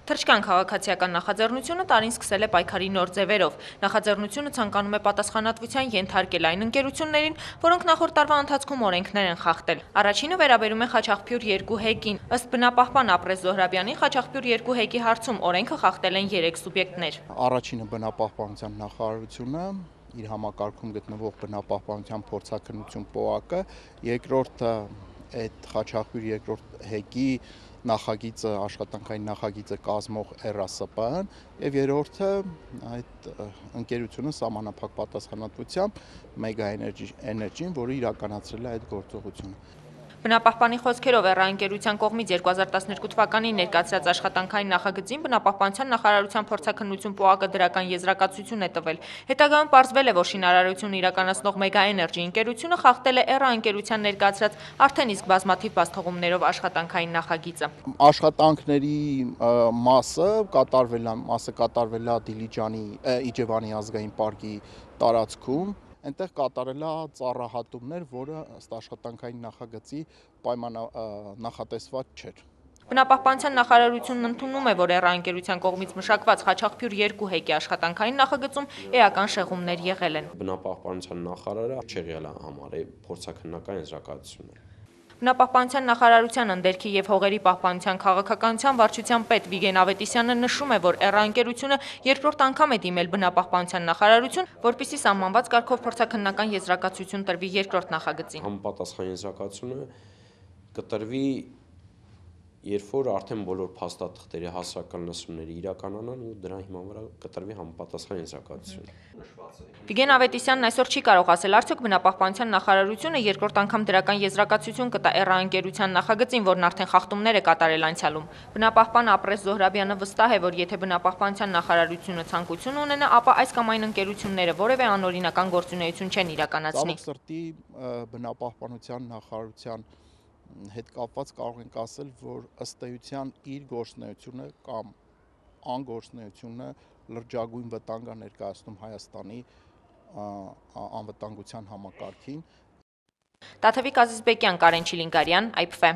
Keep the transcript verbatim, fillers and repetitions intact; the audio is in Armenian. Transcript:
Թրջկան քաղաքացիական նախաձեռնությունը տարին սկսել է պայքարի նոր ձևերով։ Նախաձեռնությունը ցանկանում է պատասխանատվության ենթարկել այն ընկերություններին, որոնք նախորդ տարվա ընթացքում օրենքներ են խախտել։ Առաջինը վերաբերում է Խաչաղբյուր երկու հեկին։ Ըստ բնապահպան Ապրես Զոհրաբյանի, Խաչաղբյուր երկու հեկի հարցում օրենքը խախտել են երեք սուբյեկտներ։ Առաջինը բնապահպանության նախարարությունը, իր համակարգում գտնվող բնապահպանության փորձաքննություն պոակը, երկրորդը այդ Խաչաղբյուր երկրորդ հեկի նախագիծը, աշխատանքային նախագիծը կազմող Էռ Ա Սը Պ-ն եւ երրորդը այդ ընկերությունը սահմանափակ պատասխանատվությամբ Մեգա Էներջին, որը իրականացրել է այդ գործողությունը։ Բնապահպանի խոսքերով Էռ Ա ընկերության կողմից երկու հազար տասներկու թվականին ներկայացրած աշխատանքային նախագծին բնապահպանության նախարարության փորձաքննություն պոակը դրական եզրակացություն է տվել։ Հետագայում պարզվել է, որ շինարարություն իրականացնող Մեգա Էներջի ընկերությունը խախտել է Էռ Ա ընկերության ներկայացրած արդեն իսկ բազմաթիվ բացթողումներով աշխատանքային նախագիծը։ Աշխատանքների մասը կատարվել է, մասը կատարվել է Դիլիջանի Իջևանի ազգային պարկի տարածքում, այնտեղ կատարել է ծառահատումներ, որը ըստ աշխատանքային նախագծի պայման նախատեսված չէր։ Բնապահպանության նախարարությունն ընդունում է, որ Էռ Ա ընկերության կողմից մշակված Խաչաղբյուր երկու հեկի աշխատանքային նախագծում էական շեղումներ եղել են։ Բնապահպանության նախարարը չէ եղել համարի փորձաքննական եզրակացությունը։ Բնապահպանության նախարարության ընդերքի և հողերի պահպանության քաղաքականության վարչության պետ Վիգեն Ավետիսյանը նշում է, որ Էռ Ա ընկերությունը երկրորդ անգամ է դիմել բնապահպանության նախարարություն, որպեսզի սահմանված կարգով փորձաքննական եզրակացություն տրվի երկրորդ նախագծին։ Համապատասխան եզրակացությունը կտրվի, երբ որ արդեն բոլոր փաստաթղթերի հասարակական լսումները իրականանան ու դրա հիման վրա կտրվի համապատասխան եզրակացություն։ Վիգեն Ավետիսյանն այսօր չի կարող ասել, արդյոք բնապահպանության նախարարությունը երկրորդ անգամ դրական եզրակացություն կտա Էռ Ա ընկերության նախագծին, որն արդեն խախտումներ է կատարել անցյալում։ Բնապահպան Ապրես Զոհրաբյանը վստահ է, որ եթե բնապահպանության նախարարությունը ցանկություն ունենա, ապա այս կամ այն ընկերությունները որևէ անօրինական գործունեություն չեն իրականացնի։ Ցավոք սրտի բնապահպանության նախարարության հետ կապված կարող ենք ասել, որ ըստ էության իր գործունեությունը կամ անգործունեությունը լրջագույն վտանգ է ներկայացնում Հայաստանի անվտանգության համակարգին։ Տաթևիկ Ազիզբեկյան, Կարեն Չիլինգարյան, Այ Փ Ֆ։